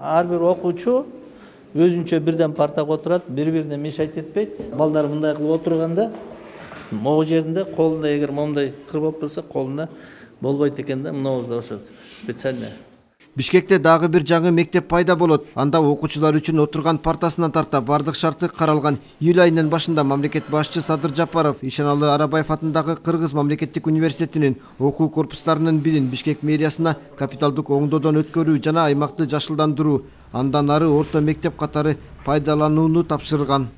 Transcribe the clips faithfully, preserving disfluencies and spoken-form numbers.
Ар бир окуучу өзүнчө бирден партага отурат, бири-бирине мешайт этпейт. Балдар мындай кылып отурганда, могу жеринде колунда эгер момундай кыр болуп турса, колунда болбойт экен да, мынабызда ошо специально. Бишкекте дагы бир жаңы мектеп пайда болот. Анда окуучулар үчүн отурган партасынан тарта бардык шарты каралган. Июль айынын башында мамлекет башчы Садыр Жапаров Ишеналы Арабаев атындагы Кыргыз мамлекеттик университетинин окуу корпустарынын бирин Бишкек мэриясына капиталдык оңдоодон өткөрүү жана аймакты жашылдандыруу, андан ары орто мектеп катары пайдаланууну тапшырган.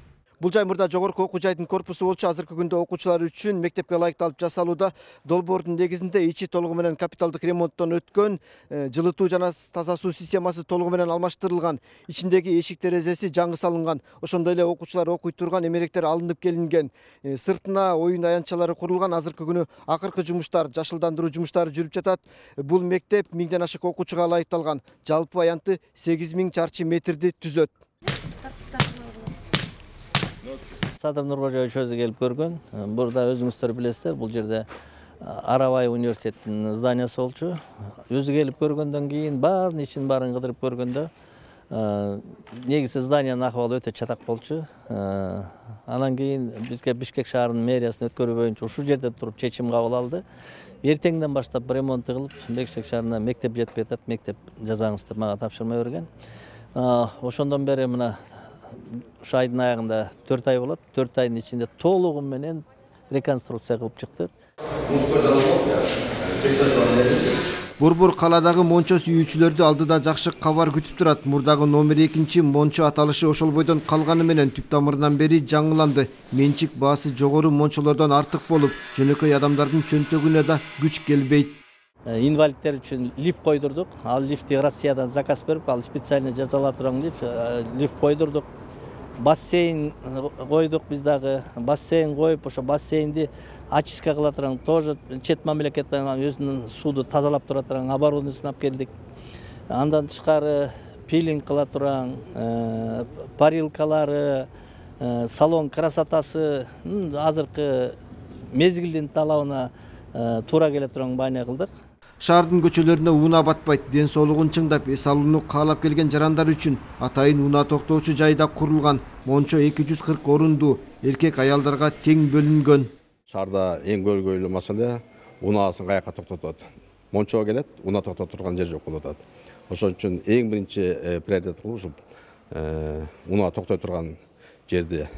Бул жаймырда жогорку окуу жайдын корпусу болчу. Азыркы күндө окуучулар үчүн мектепке ылайыкталып жасалууда. Долбоордун негизинде ичи толугу менен капиталдык ремонттон өткөн, жылытуу жана таза суу системасы толугу менен алмаштырылган, ичиндеги эшик терезеси жаңы салынган. Ошондой эле окуучулар окуй турган эмеректер алынып келинген. Сыртына оюн аянтчалары курулган. Азыркы күнү акыркы жумуштар, жашылдандыруу жумуштары жүрүп жатат. Бул мектеп миңден ашык окуучуга ылайыкталган. Жалпы аянты сегиз миң чарчы метрди түзөт. Садыр Нуркожоевич өзү келип көргөн. Burada өзүңүздөр билесиздер, бул жерде Арабаев университетинин зданиясы болчу. Өзү келип көргөндөн кийин баарын ишин баарын кыдырып көргөндө негизи зданиянын акыбалы өтө чатак болчу. Анан кийин бизге Бишкек шаарынын мэриясына өткөрүү боюнча ушул жерде туруп чечим кабыл алды. Эртеңден баштап ремонт кылып, Бишкек шаарына мектеп жетпей атат, мектеп жазаңыз деп мага тапшырма берген. Ошондон бери мына ушу айдын аягында төрт ай болот. төрт айдын ичинде толугу менен реконструкция кылып чыкты. Борбор каладагы Мончо сүйүүчүлөрдү алдыда жакшы кабар күтүп турат. Мурдагы номер экинчи Мончо аталышы ошол бойдон калганы менен түп тамырынан бери жаңыланды. Менчик баасы жогору мончолордон артык болуп, жөнөкөй адамдардын чөнтөгүнө да күч келбейт. Инвалидтер үчүн лифт койдурдук. Ал лифтти Россиядан заказ берип, ал специально жасалып турган лифт, лифт койдурдук. Бассейн койдук биз дагы. Бассейн коюп, ошо бассейнди очистка кыла турган, тоже чет мамлекеттен өзүнүн сууду тазалап тура турган оборудованиесин алып келдик. Андан тышкары пилинг кыла турган, парилкалары, салон красотасы азыркы мезгилдин талабына туура келе турган баана кылдык. Шаардын көчөлөрүнө унаа батпайт. Ден соолугун чыңдап, эс алууну каалап келген жарандар үчүн атайын унаа токтоочу жайда курулган. Мончо эки жүз кырк орунду, эркек аялдарга тең бөлүнгөн. Шаарда эң көргөйлүү маселе унаасын каяка токтотот. Мончого келет, унаа токтотуп турган жер жок болуп атат. Ошон үчүн эң биринчи приоритет кылып ушул унаа токтой турган жерди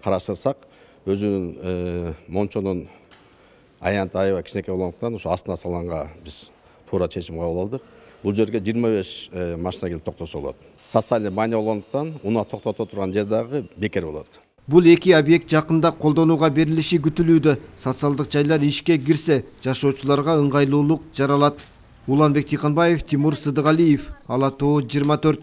караштырсак, өзүнүн Мончонун аянты аябай кичинекей болгондуктан ушу астына салганга биз туура чечим кабыл алдык. Бул жерге жыйырма беш машина келип токтосо болот. Социальный маани болгондуктан унаа токтото турган жер дагы бекер болот. Бул эки объект жакында колдонууга берилиши күтүлүүдө. Социалдык жайлар ишке кирсе, жашоочуларга ыңгайлуулук жаралат. Уланбек Тыйканбаев, Тимур Сыдыгалиев, Ала Тоо жыйырма төрт.